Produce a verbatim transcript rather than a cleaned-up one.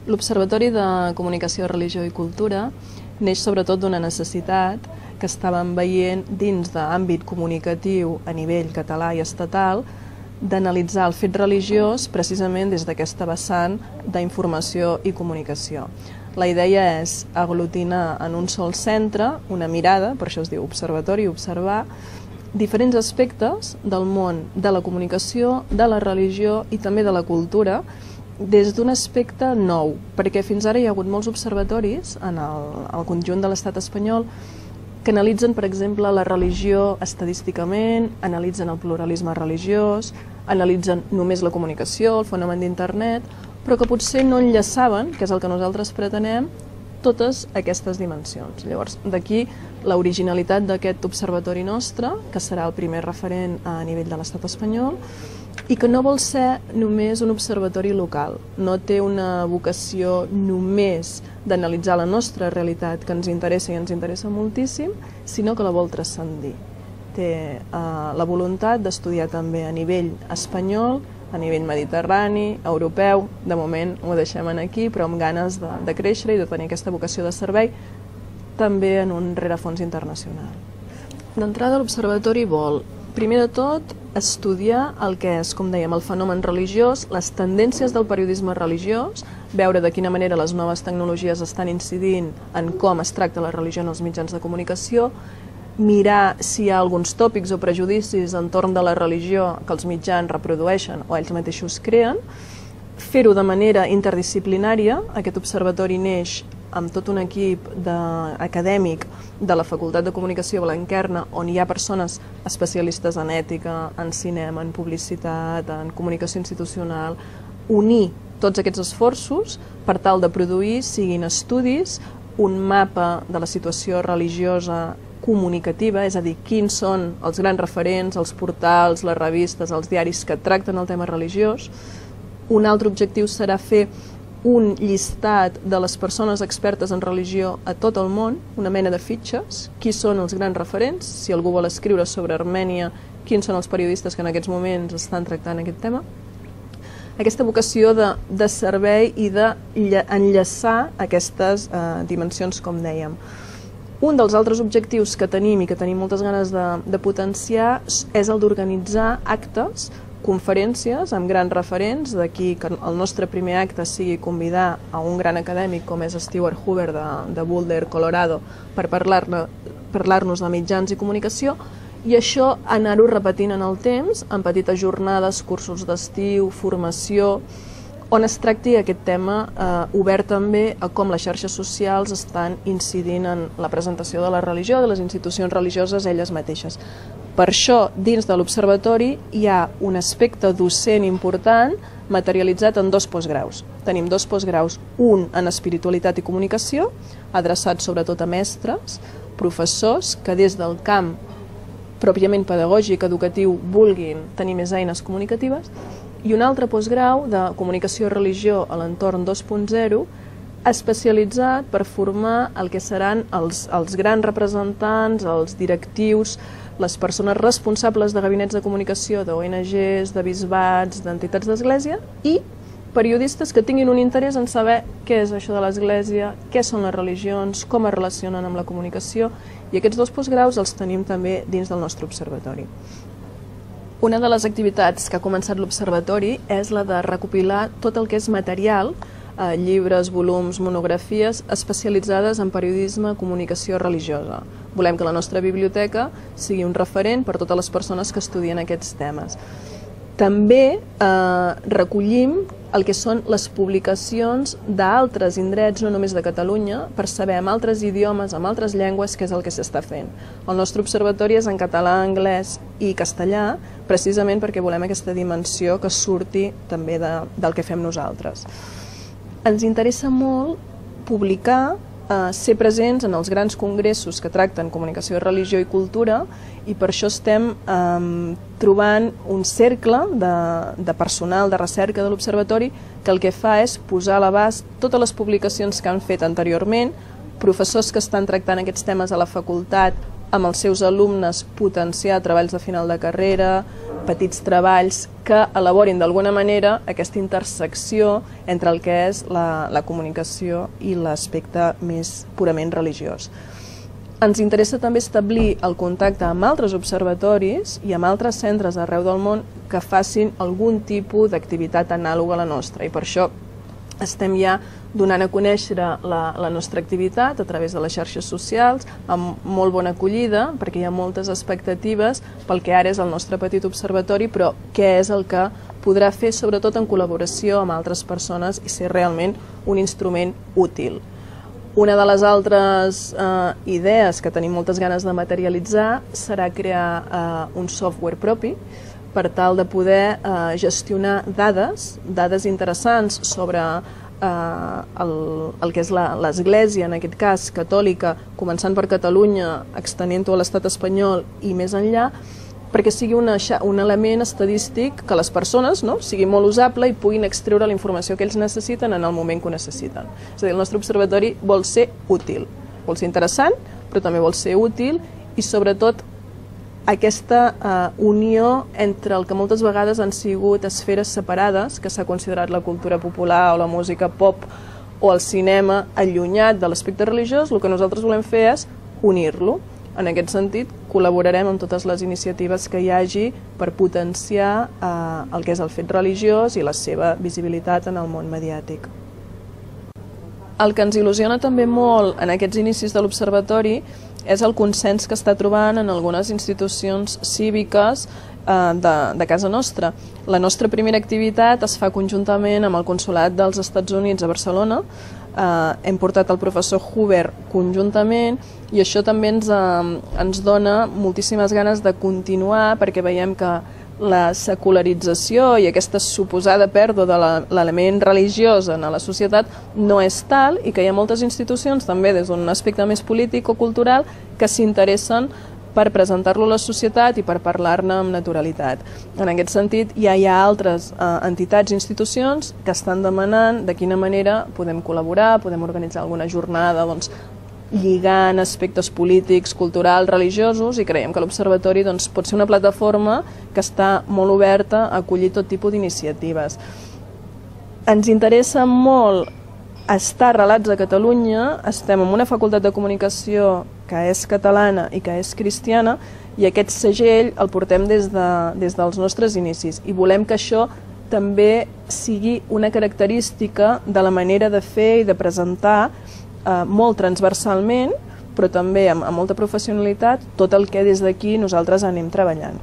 L'Observatori de Comunicació, Religió i Cultura neix sobretot d'una necessitat que estàvem veient dins d'àmbit comunicatiu a nivell català i estatal d'analitzar el fet religiós precisament des d'aquesta vessant d'informació i comunicació. La idea és aglutinar en un sol centre una mirada, per això es diu observatori, observar diferents aspectes del món de la comunicació, de la religió i també de la cultura des d'un aspecte nou, perquè fins ara hi ha hagut molts observatoris en el, el conjunt de l'estat espanyol que analitzen, per exemple, la religió estadísticament, analitzen el pluralisme religiós, analitzen només la comunicació, el fenomen d'internet, però que potser no enllaçaven, que és el que nosaltres pretenem, totes aquestes dimensions. Llavors, d'aquí l'originalitat d'aquest observatori nostre, que serà el primer referent a nivell de l'estat espanyol, i que no vol ser només un observatori local, no té una vocació només d'analitzar la nostra realitat, que ens interessa i ens interessa moltíssim, sinó que la vol transcendir. Té eh, la voluntat d'estudiar també a nivell espanyol, a nivell mediterrani, europeu, de moment ho deixem aquí, però amb ganes de, de créixer i de tenir aquesta vocació de servei, també en un rerefons internacional. D'entrada, l'Observatori vol, primer de tot, estudiar el que és, com dèiem, el fenomen religiós, les tendències del periodisme religiós, veure de quina manera les noves tecnologies estan incidint en com es tracta la religió en els mitjans de comunicació, mirar si hi ha alguns tòpics o prejudicis entorn de la religió que els mitjans reprodueixen o ells mateixos creen, fer-ho de manera interdisciplinària. Aquest observatori neix amb tot un equip acadèmic de la Facultat de Comunicació Blanquerna, on hi ha persones especialistes en ètica, en cinema, en publicitat, en comunicació institucional, unir tots aquests esforços per tal de produir, siguin estudis, un mapa de la situació religiosa comunicativa, és a dir, quins són els grans referents, els portals, les revistes, els diaris que tracten el tema religiós. Un altre objectiu serà fer un llistat de les persones expertes en religió a tot el món, una mena de fitxes, qui són els grans referents, si algú vol escriure sobre Armènia, quins són els periodistes que en aquests moments estan tractant aquest tema. Aquesta vocació de, de servei i d'enllaçar aquestes eh, dimensions, com dèiem. Un dels altres objectius que tenim i que tenim moltes ganes de, de potenciar és el d'organitzar actes, conferències amb grans referents, d'aquí que el nostre primer acte sigui convidar a un gran acadèmic com és Stewart Hoover de, de Boulder, Colorado, per parlar-nos parlar de mitjans i comunicació, i això anar-ho repetint en el temps, en petites jornades, cursos d'estiu, formació, on es tracti aquest tema eh, obert també a com les xarxes socials estan incidint en la presentació de la religió, de les institucions religioses elles mateixes. Per això, dins de l'Observatori hi ha un aspecte docent important materialitzat en dos postgraus. Tenim dos postgraus, un en espiritualitat i comunicació, adreçat sobretot a mestres, professors que des del camp pròpiament pedagògic, educatiu, vulguin tenir més eines comunicatives, i un altre postgrau de comunicació i religió a l'entorn dos punt zero, especialitzat per formar el que seran els, els grans representants, els directius, les persones responsables de gabinets de comunicació d'O N Ges, de bisbats, d'entitats d'església, i periodistes que tinguin un interès en saber què és això de l'església, què són les religions, com es relacionen amb la comunicació, i aquests dos postgraus els tenim també dins del nostre observatori. Una de les activitats que ha començat l'Observatori és la de recopilar tot el que és material, eh, llibres, volums, monografies especialitzades en periodisme, comunicació religiosa. Volem que la nostra biblioteca sigui un referent per a totes les persones que estudien aquests temes. També eh, recollim el que són les publicacions d'altres indrets, no només de Catalunya, per saber en altres idiomes, en altres llengües, què és el que s'està fent. El nostre observatori és en català, anglès i castellà, precisament perquè volem aquesta dimensió que surti també de, del que fem nosaltres. Ens interessa molt publicar, eh, ser presents en els grans congressos que tracten comunicació, religió i cultura, i per això estem eh, trobant un cercle de, de personal de recerca de l'Observatori que el que fa és posar a l'abast totes les publicacions que han fet anteriorment, professors que estan tractant aquests temes a la facultat, amb els seus alumnes potenciar treballs de final de carrera, petits treballs que elaborin d'alguna manera aquesta intersecció entre el que és la, la comunicació i l'aspecte més purament religiós. Ens interessa també establir el contacte amb altres observatoris i amb altres centres arreu del món que facin algun tipus d'activitat anàloga a la nostra, i per això estem ja donant a conèixer la, la nostra activitat a través de les xarxes socials, amb molt bona acollida, perquè hi ha moltes expectatives pel que ara és el nostre petit observatori, però què és el que podrà fer, sobretot en col·laboració amb altres persones, i ser realment un instrument útil. Una de les altres eh, idees que tenim moltes ganes de materialitzar serà crear eh, un software propi per tal de poder eh, gestionar dades, dades interessants sobre eh, el, el que és l'Església, en aquest cas catòlica, començant per Catalunya, extenent-ho a l'estat espanyol i més enllà, perquè sigui una, un element estadístic que les persones, no, sigui molt usable i puguin extreure la informació que ells necessiten en el moment que ho necessiten. És a dir, el nostre observatori vol ser útil, vol ser interessant, però també vol ser útil, i sobretot aquesta eh, unió entre el que moltes vegades han sigut esferes separades, que s'ha considerat la cultura popular o la música pop o el cinema allunyat de l'aspecte religiós. El que nosaltres volem fer és unir-lo. En aquest sentit, col·laborarem amb totes les iniciatives que hi hagi per potenciar eh, el que és el fet religiós i la seva visibilitat en el món mediàtic. El que ens il·lusiona també molt en aquests inicis de l'Observatori és el consens que està trobant en algunes institucions cíviques eh, de, de casa nostra. La nostra primera activitat es fa conjuntament amb el Consolat dels Estats Units a Barcelona. Eh, hem portat el professor Huber conjuntament, i això també ens, eh, ens dona moltíssimes ganes de continuar, perquè veiem que la secularització i aquesta suposada pèrdua de l'element religiós en la societat no és tal, i que hi ha moltes institucions, també des d'un aspecte més polític o cultural, que s'interessen per presentar-lo a la societat i per parlar-ne amb naturalitat. En aquest sentit, ja hi ha altres eh, entitats i institucions que estan demanant de quina manera podem col·laborar, podem organitzar alguna jornada, doncs, lligant aspectes polítics, culturals, religiosos, i creiem que l'Observatori doncs, pot ser una plataforma que està molt oberta a acollir tot tipus d'iniciatives. Ens interessa molt estar arrelats a Catalunya, estem en una facultat de comunicació que és catalana i que és cristiana, i aquest segell el portem des, de, des dels nostres inicis, i volem que això també sigui una característica de la manera de fer i de presentar eh, molt transversalment, però també amb, amb molta professionalitat, tot el que des d'aquí nosaltres anem treballant.